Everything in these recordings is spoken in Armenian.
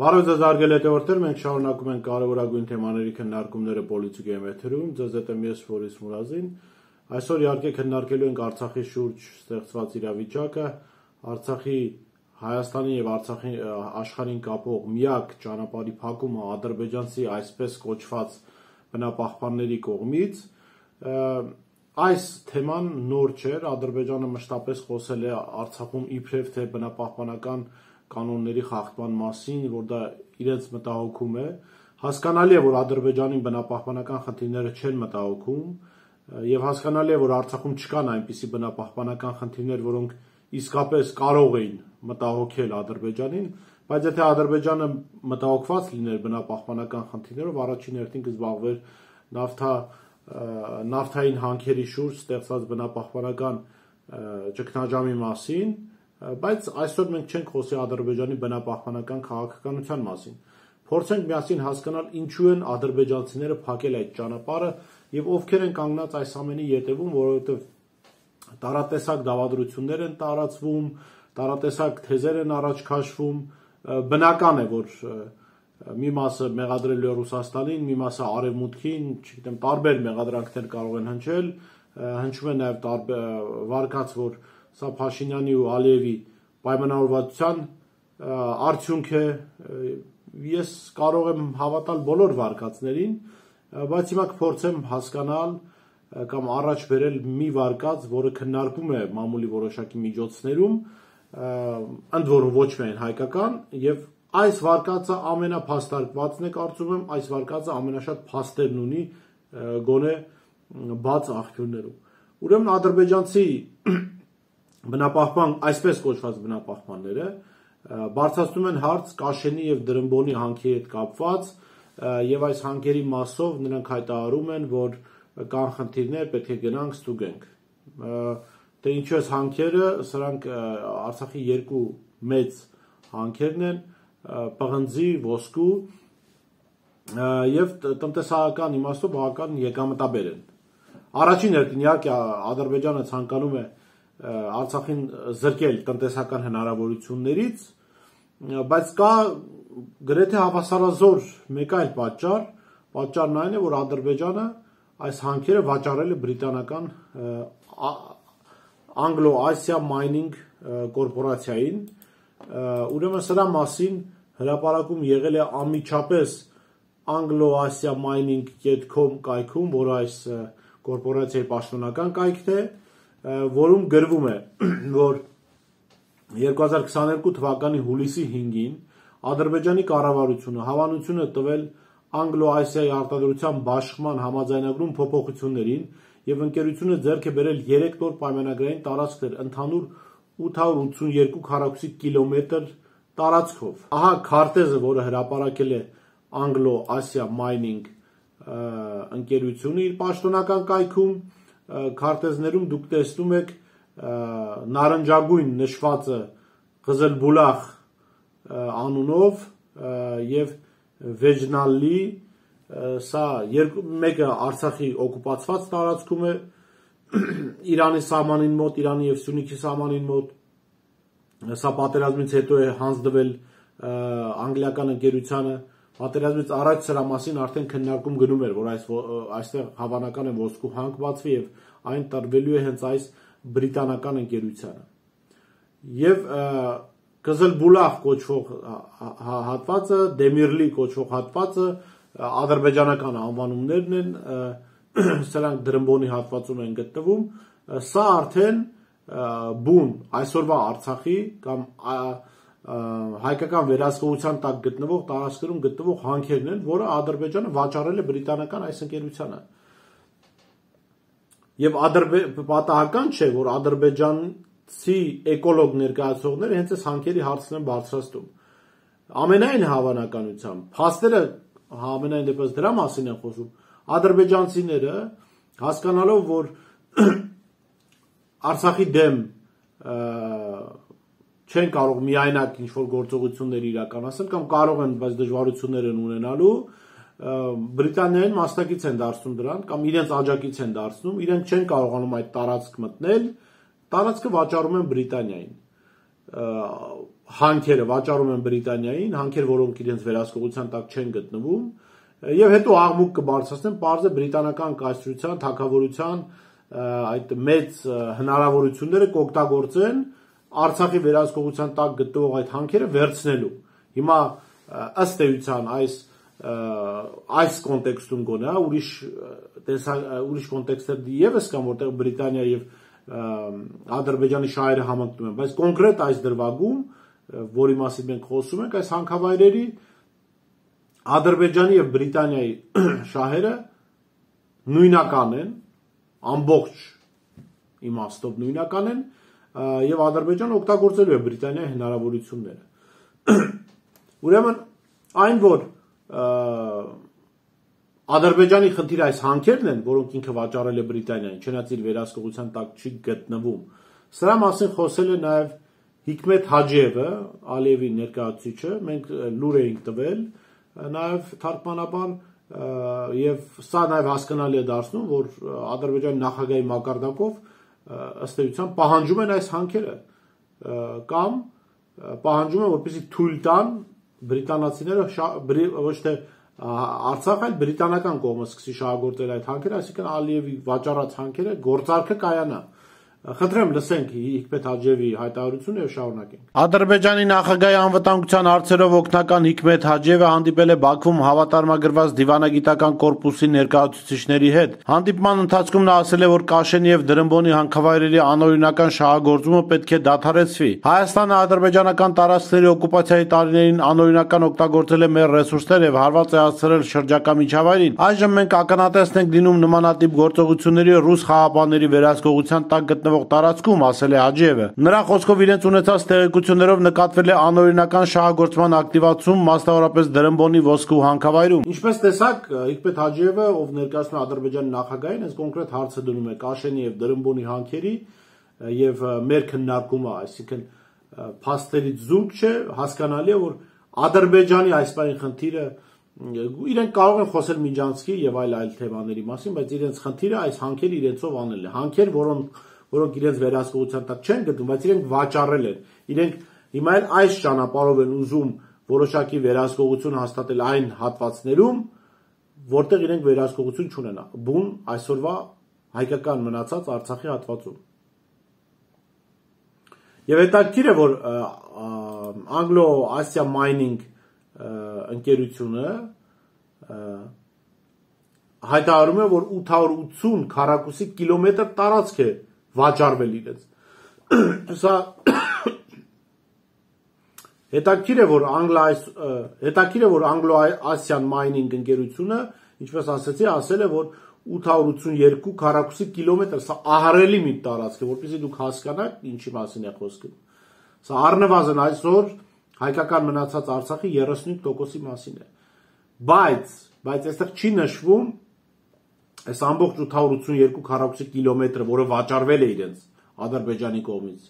Բարև ձեզ հարգելի հետևորդներ, մենք շարունակում ենք կարևորագույն թեմաների քննարկումները Պոլիտիկայում եթերում, ձեզ հետ եմ ես Ֆորիս Մուրազին։ Այսօր իհարկե քննարկելու ենք Արցախի շուրջ ստեղծված իրավիճակը, Արցախի Հայաստանի եւ Արցախի աշխարհին կապող միակ ճանապարհի փակումը ադրբեջանցի այսպես կոչված բնապահպանների կողմից։ Այս թեման նոր չէր, Ադրբեջանը մշտապես խոսել է Արցախում իբրև թե բնապահպանական կանոնների խախտման մասին, որ դա իրենց մտահոգում է, հասկանալի է, որ Ադրբեջանին բնապահպանական խնդիրները չեն մտահոգում, եւ հասկանալի է, որ Արցախում չկան այնպիսի բնապահպանական խնդիրներ, որոնք իսկապես կարող էին մտահոգել Ադրբեջանին, բայց եթե Ադրբեջանը մտահոգված լիներ բնապահպանական խնդիրներով, առաջին հերթին կզբաղվեր նավթային հանքերի շուրջ ստեղծված բնապահպանական ճգնաժամի մասին, բայց այսօր մենք չենք խոսի Ադրբեջանի բնապահպանական քաղաքականության մասին։ Փորձենք միասին հասկանալ ինչու են ադրբեջանցիները փակել այդ ճանապարհը եւ ովքեր են կանգնած այս ամենի ետևում, որովհետեւ տարատեսակ դավադրություններ են տարածվում, տարատեսակ թեզեր են առաջ քաշվում, բնական է, որ մի մասը մեղադրելու է Ռուսաստանին, մի մասը Արևմուտքին, չգիտեմ, տարբեր մեղադրանքներ կարող են հնչել, հնչում է նաեւ վարկած, որ սա Փաշինյանի ու Ալիևի պայմանավորվածության արդյունք է, ես կարող եմ հավատալ բոլոր վարկածներին, բայց հիմա կփորձեմ հասկանալ կամ առաջ բերել մի վարկած, որը քննարկում է մամուլի որոշակի միջոցներում, ընդ որում ոչ միայն հայկական, եւ այս վարկածը ամենափաստարկվածն է, կարծում եմ, այս վարկածը ամենաշատ փաստերն ունի գոնե բաց աղբյուրներում։ Ուրեմն ադրբեջանցի բնապահպան, այսպես կոչված բնապահպանները բարձրացնում են հարց Կաշենի եւ Դրմբոնի հանքի հետ կապված եւ այս հանքերի մասով նրանք հայտարարում են, որ կան խնդիրներ, պետք է գնանք ստուգենք։ Դե ինչու է հանքերը, սրանք Արցախի երկու մեծ հանքերն են, պղնձի, ոսկու եւ տնտեսական իմաստով բավական եկամտաբեր են։ Առաջին հերթին իհարկե Ադրբեջանը ցանկանում է Արցախին զրկել տնտեսական հնարավորություններից, բայց կա գրեթե հավասարազոր մեկ այլ պատճառ, պատճառն այն է, որ Ադրբեջանը այս հանքերը վաճառել է բրիտանական Anglo-Asia Mining կորպորացիային, ուրեմն սրա մասին հրապարակում եղել է անմիջապես Anglo-Asia Mining.com կայքում, որը այս կորպորացիայի պաշտոնական կայքն է, որում գրվում է, որ 2022 թվականի հուլիսի 5-ին Ադրբեջանի կառավարությունը հավանություն է տվել Anglo-Asia-ի արտադրության բաշխման համաձայնագրում փոփոխություններին եւ ընկերությունը ձեռք է բերել 3 նոր պայմանագրային տարածքներ ընդհանուր 882 քառակուսի կիլոմետր տարածքով։ Ահա քարտեզը, որը հրապարակել է Anglo-Asia Mining ընկերությունը իր պաշտոնական կայքում, քարտեզներում դուք տեսնում եք նարնջագույն նշվածը Ղզելբուլախ անունով եւ Վեջնալի, սա մեկը Արցախի օկուպացված տարածքում է, Իրանի սահմանին մոտ, Իրանի եւ Սյունիքի սահմանին մոտ, սա պատերազմից հետո է հանձնվել անգլիական ընկերությանը, պատերազմից առաջ սրա մասին արդեն քննարկում գնում էր, որ այստեղ հավանական է ոսկու հանք բացվի եւ այն տրվելու է հենց այս բրիտանական ընկերությանը։ Եվ Ղզելբուլախ կոչվող հատվածը, Դեմիրլի կոչվող հատվածը ադրբեջանական անվանումներն են, սրանք Դրմբոնի հատվածում են գտնվում, սա արդեն բուն այսօրվա Արցախի կամ հայկական վերահսկողության տակ գտնվող տարածքներում գտնվող հանքերն են, որը Ադրբեջանը վաճառել է բրիտանական այս ընկերությանը։ Եվ պատահական չէ, որ ադրբեջանցի էկոլոգ ներկայացողները հենց այս հանքերի հարցն են բարձրացնում։ Ամենայն հավանականությամբ, փաստերը ամենայն դեպս դրա մասին են խոսում, ադրբեջանցիները հասկանալով, որ Արցախի դեմ չեն կարող միայնակ ինչ-որ գործողություններ իրականացնել կամ կարող են, բայց դժվարություններ են ունենալու, Բրիտանիային մասնակից են դարձնում դրան կամ իրենց աջակից են դարձնում, իրենք չեն կարողանում այդ տարածք մտնել, տարածքը վաճառում են Բրիտանիային, հանքերը վաճառում են Բրիտանիային, հանքեր, որոնք իրենց վերահսկողության տակ չեն գտնվում, եւ հետո աղմուկ կբարձրացնեն, պարզ է բրիտանական կայսրության, թագավորության այդ մեծ հնարավորությունները կօգտագործեն Արցախի վերահսկողության տակ գտնվող այդ հանքերը վերցնելու։ Հիմա ըստ էության այս կոնտեքստում գոնե, ուրիշ կոնտեքստեր եւս կան, որտեղ Բրիտանիա եւ Ադրբեջանի շահերը համընկնում են, բայց կոնկրետ այս դրվագում, որի մասին մենք խոսում ենք, այս հանքավայրերի Ադրբեջանի եւ Բրիտանիայի շահերը նույնական են, ամբողջ իմաստով նույնական են, եւ Ադրբեջանը օգտագործելու է Բրիտանիայի հնարավորությունները։ Ուրեմն այն, որ Ադրբեջանի խնդիրը այս հանքերն են, որոնք ինքը վաճառել է Բրիտանիային, չնայած իր վերահսկողության տակ չի գտնվում, սրա մասին խոսել է նաեւ Հիկմետ Հաջիևը, Ալիևի ներկայացուցիչը, մենք լուր էինք տվել նաեւ թարգմանաբան, եւ սա նաեւ հասկանալի է դարձնում, որ Ադրբեջանի նախագահի մակարդակով ըստ էության պահանջում են այս հանքերը կամ պահանջում են, որպեսզի թույլ տան բրիտանացիները ոչ թե Արցախը, այլ բրիտանական կողմը սկսի շահագործել այդ հանքերը, այսինքն Ալիևի վաճառած հանքերը գործարքը կայանա։ Խնդրեմ լսենք Հիկմետ Հաջիևի հայտարարությունը եւ շարունակենք։ Ադրբեջանի նախագահի անվտանգության հարցերով օգնական Հիկմետ Հաջիևը հանդիպել է Բաքվում հավատարմագրված դիվանագիտական կորպուսի ներկայացուցիչների հետ։ Հանդիպման ընթացքում նա ասել է, որ Կաշենի եւ Դրամբոնի հանքավայրերի անօրինական շահագործումը պետք է դադարեցվի։ Հայաստանը ադրբեջանական տարածքների օկուպացիայի տարիներին անօրինական օգտագործել է մեր ռեսուրսներ եւ հարված է հասցրել շրջակա միջավայրին։ Այժմ մենք ականատեսն ենք լինում նմանատիպ գործողությունների ռուս խաղապանների վերահսկողության տակ գտնվող տարածքում, ասել է Հաջիևը։ Նրա խոսքով իրենց ունեցած տեղեկություններով նկատվել է անօրինական շահագործման ակտիվացում, մասնավորապես Դրամբոնի ոսկու հանքավայրում։ Ինչպես տեսակ, Հիկմետ Հաջիևը, ով ներկայացնում է Ադրբեջանի նախագահին, այս կոնկրետ հարցը դնում է Կաշենի եւ Դրամբոնի հանքերի եւ մեր քննարկումը, այսինքն փաստերից զուրկ չէ, հասկանալի է, որ Ադրբեջանի այս բանի խնդիրը իրենք կարող են խոսել Միջանցքի եւ այլ թեմաների մասին, բայց իրենց խնդիրը այս հանքերը իրենցով անելն է։ Հանքեր, որոնք իրենց վերահսկողության տակ չեն գտնում, բայց իրենք վաճառել են։ Իրենք հիմա էլ այս ճանապարհով են ուզում որոշակի վերահսկողություն հաստատել այն հատվածներում, որտեղ իրենք վերահսկողություն չունեն։ Բուն այսօրվա հայկական մնացած Արցախի հատվածում։ Եվ հետաքրքիր է, որ Anglo-Asia Mining ընկերությունը հայտարարում է, որ 880 քառակուսի կիլոմետր տարածք է վաճառվել իրենց։ Սա հետաքրքիր է, որ Anglo-Asian Mining ընկերությունը, ինչպես ասացի, ասել է, որ 882 քառակուսի կիլոմետր, սա ահռելի մի տարածք է, որպեսզի դուք հասկանաք ինչի մասին է խոսքը։ Սա առնվազն այսօր հայկական մնացած Արցախի 35%-ի մասին է։ Բայց այստեղ չի նշվում այս ամբողջ 882 քառակուսի կիլոմետրը, որը վաճառվել է իրենց Ադրբեջանի կողմից,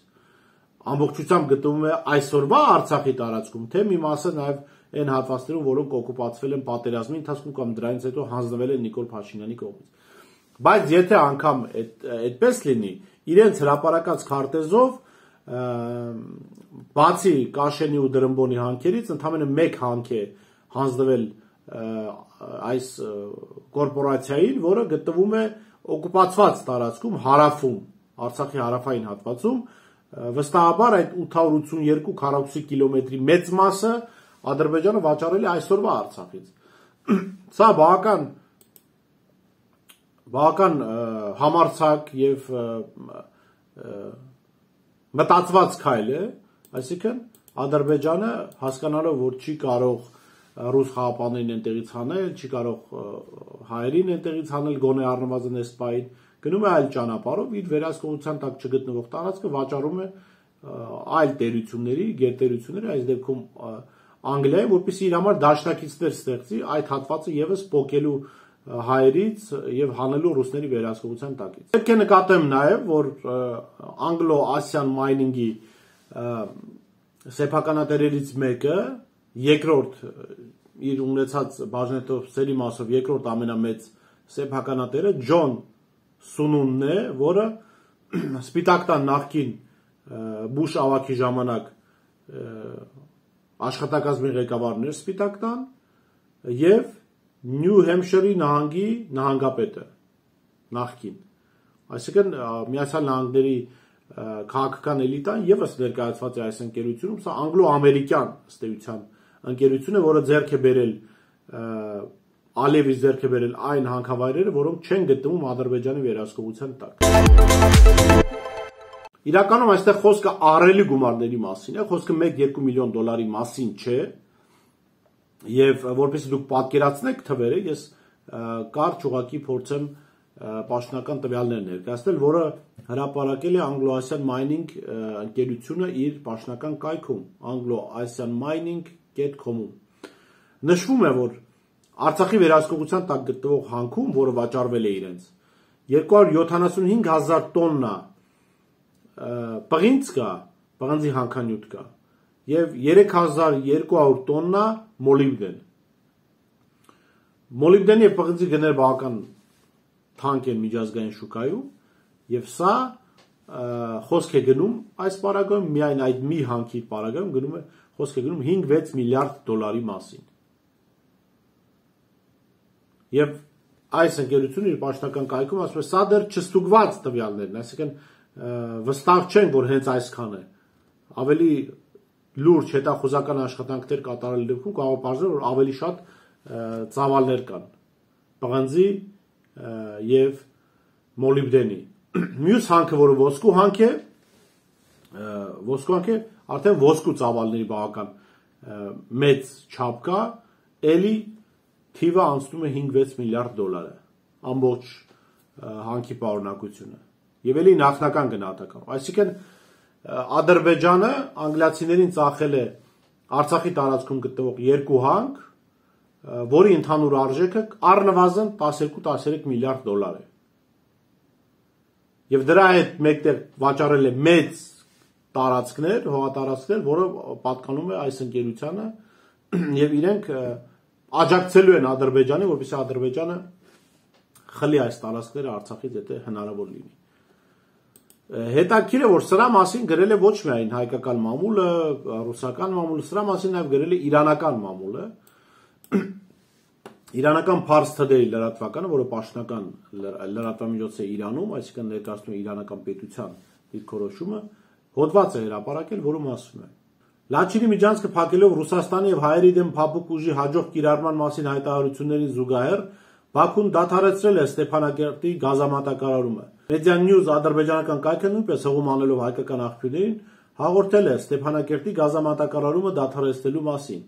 ամբողջությամբ գտնվում է այսօրվա Արցախի տարածքում, թե մի մասը նաև այն հատվածներում, որոնք օկուպացվել են պատերազմի ընթացքում կամ դրանից հետո հանձնվել են Նիկոլ Փաշինյանի կողմից։ Բայց եթե անգամ այդպես լինի, իրենց հրապարակած քարտեզով բացի Կաշենի ու Դրամբոնի հանքերից ընդամենը մեկ հանք է հանձնվել այս կորպորացիային, որը գտնվում է օկուպացված տարածքում հարավում, Արցախի հարավային հատվածում, վստահաբար այդ 882 քառակուսի կիլոմետրի մեծ մասը Ադրբեջանը վաճառել է այսօրվա Արցախից։ Սա բավական համարձակ եւ մտածված քայլ է, այսինքն Ադրբեջանը հասկանալով, որ չի կարող ռուս խաղապաններին այնտեղից հանել, չի կարող հայերին այնտեղից հանել, գոնե առնվազն այս պահին, գնում է այլ ճանապարհով, իր վերահսկողության տակ չգտնվող տարածքը վաճառում է այլ տերությունների, գերտերությունների, այս դեպքում Անգլիայի, որպեսզի իր համար դաշնակիցներ ստեղծի այդ հատվածը եւս փոկելու հայերից եւ հանելու ռուսների վերահսկողության տակից։ Պետք է նկատեմ նաեւ, որ Anglo-Asian Mining-ի սեփականատերերից մեկը, երկրորդ իր ունեցած բաժնետոցների մասով երկրորդ ամենամեծ սեփականատերը Ջոն Սունունն է, որը Սպիտակ տան նախկին Բուշ ավագի ժամանակ աշխատակազմի ղեկավարներ Սպիտակ տան եւ Նյու Հեմփշիրի նահանգի նահանգապետը նախկին, այսինքն Միացյալ Նահանգների քաղաքական էլիտան եւս ներկայացված է այս ընկերությունում, սա անգլո-ամերիկյան ըստ էության ընկերություն է, որը ձեռք է բերել Ալիևի ձեռք է բերել այն հանքավայրերը, որոնք չեն գտնվում Ադրբեջանի վերահսկողության տակ։ Իրականում այստեղ խոսքը ահռելի գումարների մասին է, խոսքը 1-2 միլիոն դոլարի մասին չէ, եւ որպեսզի դուք պատկերացնեք թվերը, ես կարճ ուղղակի փորձեմ պաշտոնական տվյալներ ներկայացնել, որը հրապարակել է Anglo-Asian Mining ընկերությունը իր պաշտոնական կայքում anglo-asianmining.com-ում։ Նշվում է, որ Արցախի վերահսկողության տակ գտնվող հանքում, որը վաճառվել է իրենց, 275,000 տոննա պղինձ կա, պղնձի հանքանյութ կա, եւ 3200 տոննա մոլիբդեն։ Մոլիբդենի եւ պղնձի գները բավական թանկ են միջազգային շուկայում, եւ սա խոսք է գնում այս պարագայում, միայն այդ մի հանքի պարագայում գնում է խոսք է գնում 5-6 միլիարդ դոլարի մասին։ Եվ այս ընկերությունը իր պաշտոնական կայքում ասում է, սա դեռ չստուգված տվյալներն, այսինքն վստահ չենք, որ հենց այսքան է։ Ավելի լուրջ հետախուզական աշխատանքներ կատարելու դեպքում կարող է պարզվել, որ ավելի շատ ծավալներ կան պղնձի եւ մոլիբդենի։ Մյուս հանքը, որը ոսկու հանք է, արդեն ոսկու ծավալների բավական մեծ չափ կա, էլի թիվը անցնում է 5-6 միլիարդ դոլար է, ամբողջ հանքի պարունակությունը, եւ էլի նախնական գնահատական։ Այսինքն Ադրբեջանը անգլիացիներին ծախել է Արցախի տարածքում գտնվող 2 հանք, որի ընդհանուր արժեքը առնվազն 12-13 միլիարդ դոլար է։ Եվ դրա հետ մեկտեղ վաճառել է մեծ տարածքներ, հողատարածքներ, որը պատկանում է այս ընկերությանը, եւ իրենք աջակցելու են Ադրբեջանի, որպեսզի Ադրբեջանը խլի այս տարածքները Արցախից եթե հնարավոր լինի։ Հետաքրքիր է, որ սրա մասին գրել է ոչ միայն հայկական մամուլը, ռուսական մամուլը, սրա մասին նաև գրել է իրանական մամուլը, իրանական Pars Today լրատվականը, որը պաշտոնական լրատվամիջոց է Իրանում, այսինքն ներկայացնում է իրանական պետության դիրքորոշումը, հոդված է հրապարակել, որում ասում է. Լաչինի միջանցքը փակելով Ռուսաստանի եւ հայերի դեմ փափուկ ուժի հաջող կիրառման մասին հայտարարություններին զուգահեռ Բաքուն դադարեցրել է Ստեփանակերտի գազամատակարարումը։ Media News ադրբեջանական կայքը նույնպես հողում անելով հայկական աղբյուրներին հաղորդել է Ստեփանակերտի գազամատակարարումը դադարեցնելու մասին։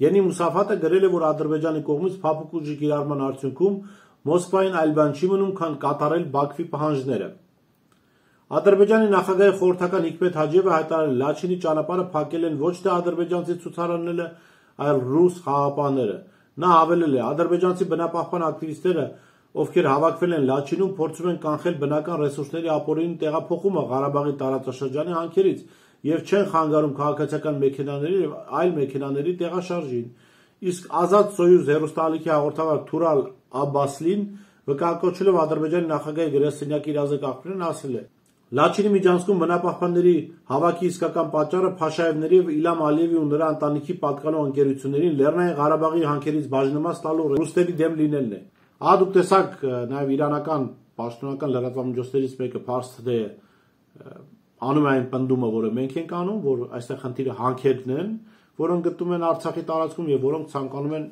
Յենի Մուսաֆատը գրել է, որ Ադրբեջանի կողմից փափուկ ուժի կիրառման արդյունքում Մոսկվային այլ բան չի մնում, քան կատարել Բաքվի պահանջները։ Ադրբեջանի նախագահի խորհրդական Հիկմետ Հաջիևը հայտարարել Լաչինի ճանապարհը փակել են ոչ թե ադրբեջանցի ցուցարարները, այլ ռուս խաղաղապահները։ Նա հավելել է. ադրբեջանցի բնապահպան ակտիվիստները, ովքեր հավաքվել են Լաչինում, փորձում են կանխել բնական ռեսուրսների ապօրինի տեղափոխումը Ղարաբաղի տարածաշրջանի հանքերից եւ չեն խանգարում քաղաքացիական մեքենաների եւ այլ մեքենաների տեղաշարժին։ Իսկ Ազատ Սոյուզ հեռուստաալիքի հաղորդավար Թուրալ Աբբասլին վկայակոչելով Ադրբեջանի նախագահի գրասենյակի իրազեկախորեն ասել է. Լաչինի միջանցքում բնապահպանների հավաքի իսկական պատճառը Փաշաևների եւ Իլհամ Ալիևի ու նրա ընտանիքի պատկանող ընկերություններին Լեռնային Ղարաբաղի հանքերից բաժնեմաց տալու ռուսների դեմ լինելն է։ Ահա դուք տեսաք նաեւ իրանական պաշտոնական լրատվամիջոցներից մեկը Pars Today անում այն պնդումը, որը մենք ենք անում, որ այստեղ խնդիրը հանքերն են, որոնք գտնվում են Արցախի տարածքում եւ որոնք ցանկանում են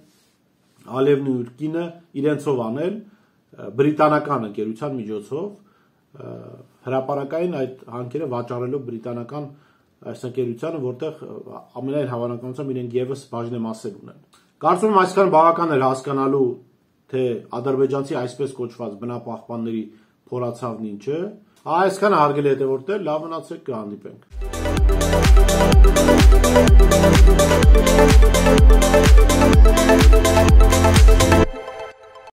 Ալիևն ու իր կինը իրենցով անել բրիտանական ընկերության միջոցով հրապարակային այդ հանքերը վաճառելով բրիտանական այս ընկերությանը, որտեղ ամենայն հավանականությամբ իրենք եւս բաժնեմասեր ունեն։ Կարծում եմ այսքան բավական էր հասկանալու, թե ադրբեջանցի այսպես կոչված բնապահպանների փորացավն ինչ է։ Այսքանը հարգելի հետևորդներ, լավ մնացեք, կհանդիպենք։